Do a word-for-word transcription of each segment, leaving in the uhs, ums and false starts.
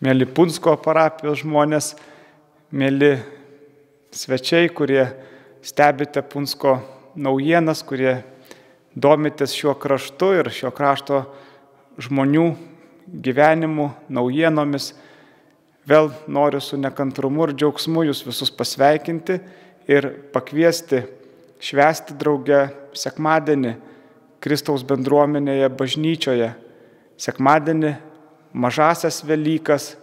mėly Punsko parapijos žmonės, mėly svečiai, kurie stebite Punsko naujienas, kurie domitės šiuo kraštu ir šio krašto žmonių gyvenimu, naujienomis. Vėl noriu su nekantrumu ir džiaugsmu jūs visus pasveikinti ir pakviesti švęsti drauge sekmadienį Kristaus bendruomenėje bažnyčioje. Sekmadienį mažasias Velykas,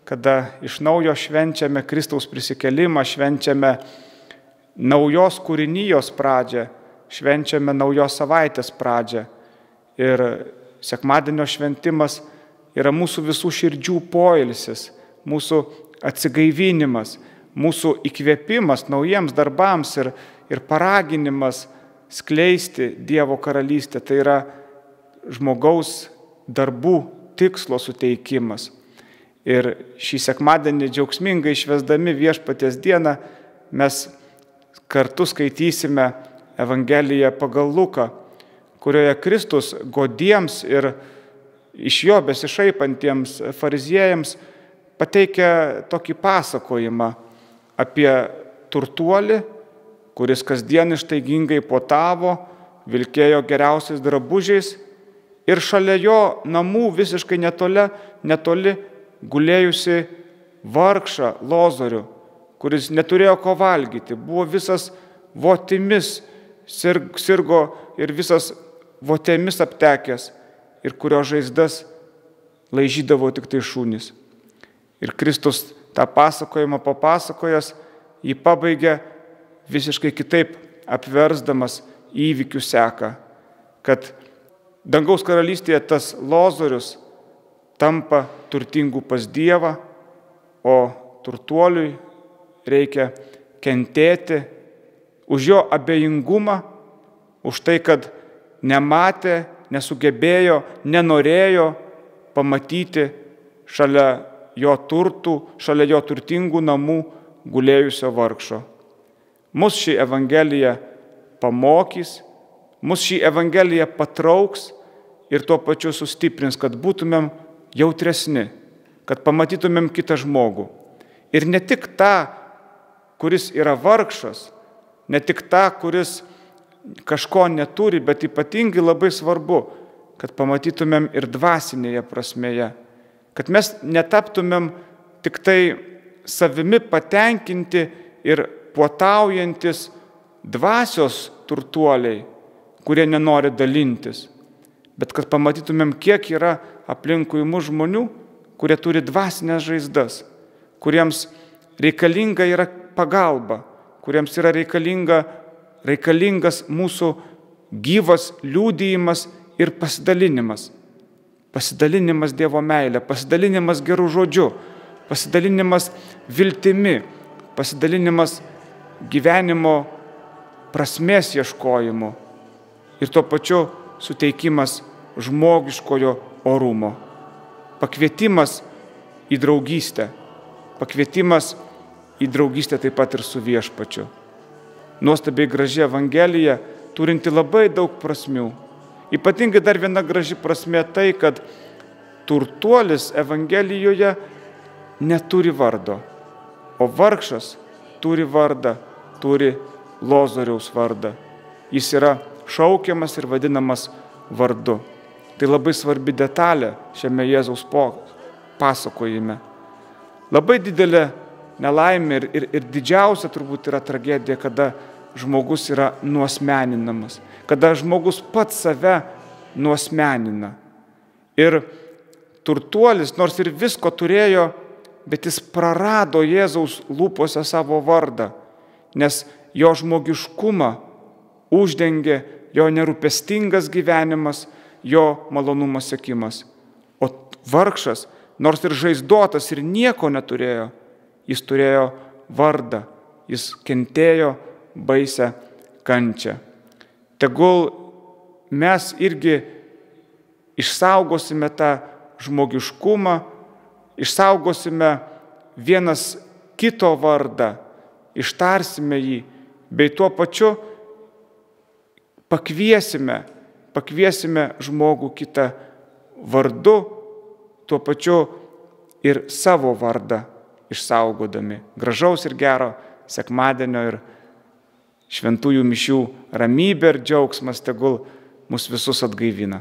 kada iš naujo švenčiame Kristaus prisikėlimą, švenčiame naujos kūrinijos pradžią, švenčiame naujos savaitės pradžią. Ir sekmadienio šventimas yra mūsų visų širdžių poilsis, mūsų atsigaivinimas, mūsų įkvėpimas naujiems darbams ir, ir paraginimas skleisti Dievo karalystę. Tai yra žmogaus darbų tikslo suteikimas. Ir šį sekmadienį džiaugsmingai švęsdami Viešpaties dieną mes kartu skaitysime Evangeliją pagal Luką, kurioje Kristus godiems ir iš jo besišaipantiems fariziejams pateikia tokį pasakojimą apie turtuolį, kuris kasdien ištaigingai puotavo, vilkėjo geriausiais drabužiais ir šalia jo namų visiškai netoli, netoli gulėjusi vargšą Lozorių, kuris neturėjo ko valgyti, buvo visas votimis, sirgo ir visas votėmis aptekęs ir kurio žaizdas laižydavo tik tai šunys. Ir Kristus tą pasakojimą papasakojęs, jį pabaigė visiškai kitaip apversdamas įvykių seką, kad dangaus karalystėje tas Lozorius tampa turtingų pas Dievą, o turtuoliui reikia kentėti už jo abejingumą, už tai, kad nematė, nesugebėjo, nenorėjo pamatyti šalia jo turtų, šalia jo turtingų namų gulėjusio vargšo. Mus ši Evangelija pamokys, mus ši Evangelija patrauks ir tuo pačiu sustiprins, kad būtumėm jautresni, kad pamatytumėm kitą žmogų. Ir ne tik tą, kuris yra vargšas, ne tik tą, kuris kažko neturi, bet ypatingai labai svarbu, kad pamatytumėm ir dvasinėje prasmėje, kad mes netaptumėm tik tai savimi patenkinti ir puotaujantis dvasios turtuoliai, kurie nenori dalintis, bet kad pamatytumėm, kiek yra aplinkui mus žmonių, kurie turi dvasinės žaizdas, kuriems reikalinga yra pagalba, kuriems yra reikalinga, reikalingas mūsų gyvas liudijimas ir pasidalinimas. Pasidalinimas Dievo meilė, pasidalinimas gerų žodžių, pasidalinimas viltimi, pasidalinimas gyvenimo prasmės ieškojimu ir tuo pačiu suteikimas žmogiškojo orumo. Pakvietimas į draugystę, pakvietimas į draugystę taip pat ir su Viešpačiu. Nuostabiai graži Evangelija, turinti labai daug prasmių. Ypatingai dar viena graži prasmė tai, kad turtuolis Evangelijoje neturi vardo, o vargšas turi vardą, turi Lozoriaus vardą. Jis yra šaukiamas ir vadinamas vardu. Tai labai svarbi detalė šiame Jėzaus pasakojime. Labai didelė nelaimė ir, ir, ir didžiausia turbūt yra tragedija, kada žmogus yra nuasmeninamas, kada žmogus pats save nuasmenina. Ir turtuolis, nors ir visko turėjo, bet jis prarado Jėzaus lūpose savo vardą, nes jo žmogiškumą uždengė jo nerūpestingas gyvenimas, jo malonumo siekimas. O vargšas, nors ir žaizdotas ir nieko neturėjo, jis turėjo vardą, jis kentėjo baisę kančią. Tegul mes irgi išsaugosime tą žmogiškumą, išsaugosime vienas kito vardą, ištarsime jį, bei tuo pačiu pakviesime, pakviesime žmogų kitą vardu, tuo pačiu ir savo vardą išsaugodami. Gražaus ir gero sekmadienio ir šventųjų mišių ramybė ir džiaugsmas tegul mus visus atgaivina.